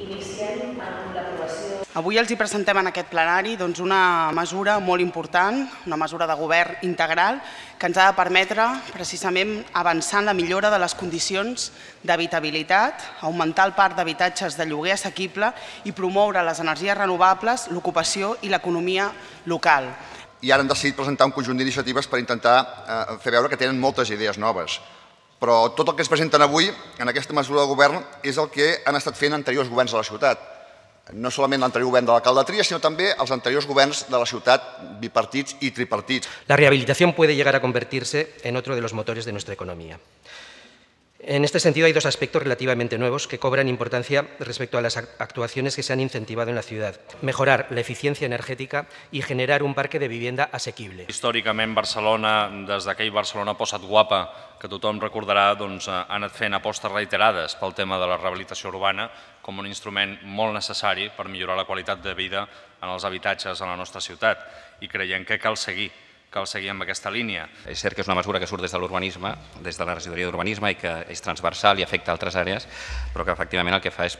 Iniciem amb l'aprovació. Avui els hi presentem en aquest plenari una mesura molt important, una mesura de govern integral que ens ha de permetre precisament avançar en la millora de les condicions d'habitabilitat, augmentar el parc d'habitatges de lloguer assequible i promoure les energies renovables, l'ocupació i l'economia local. I ara han decidit presentar un conjunt d'iniciatives per intentar fer veure que tenen moltes idees noves. Però tot el que es presenten avui en aquesta mesura de govern és el que han estat fent anteriors governs de la ciutat. No solament l'anterior govern de l'alcalde Trias, sinó també els anteriors governs de la ciutat, bipartits i tripartits. La rehabilitación puede llegar a convertirse en otro de los motores de nuestra economía. En este sentido, hay dos aspectos relativamente nuevos que cobran importancia respecto a las actuaciones que se han incentivado en la ciudad. Mejorar la eficiencia energética y generar un parque de vivienda asequible. Històricament, Barcelona, des d'aquell Barcelona Posa't Guapa, que tothom recordarà, ha anat fent apostes reiterades pel tema de la rehabilitació urbana com un instrument molt necessari per millorar la qualitat de vida en els habitatges a la nostra ciutat. I creiem que cal seguir amb aquesta línia. És cert que és una mesura que surt des de l'urbanisme, des de la regidoria d'urbanisme i que és transversal i afecta altres àrees, però que efectivament el que fa és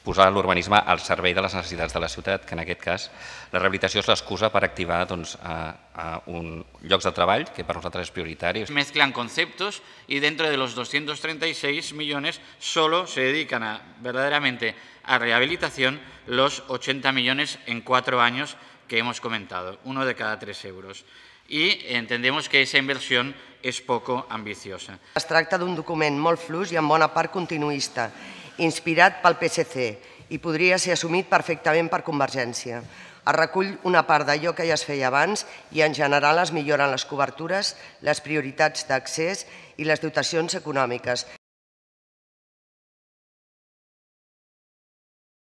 posar l'urbanisme al servei de les necessitats de la ciutat, que en aquest cas la rehabilitació és l'excusa per activar llocs de treball, que per nosaltres és prioritari. Mezclan conceptos y dentro de los 236 millones solo se dedican verdaderamente a rehabilitación los 80 millones en 4 años que hemos comentado, uno de cada 3 euros. I entendemos que esa inversión és poco ambiciosa. Es tracta d'un document molt fluix i en bona part continuista, inspirat pel PSC i podria ser assumit perfectament per Convergència. Es recull una part d'allò que ja es feia abans i en general es milloren les cobertures, les prioritats d'accés i les dotacions econòmiques.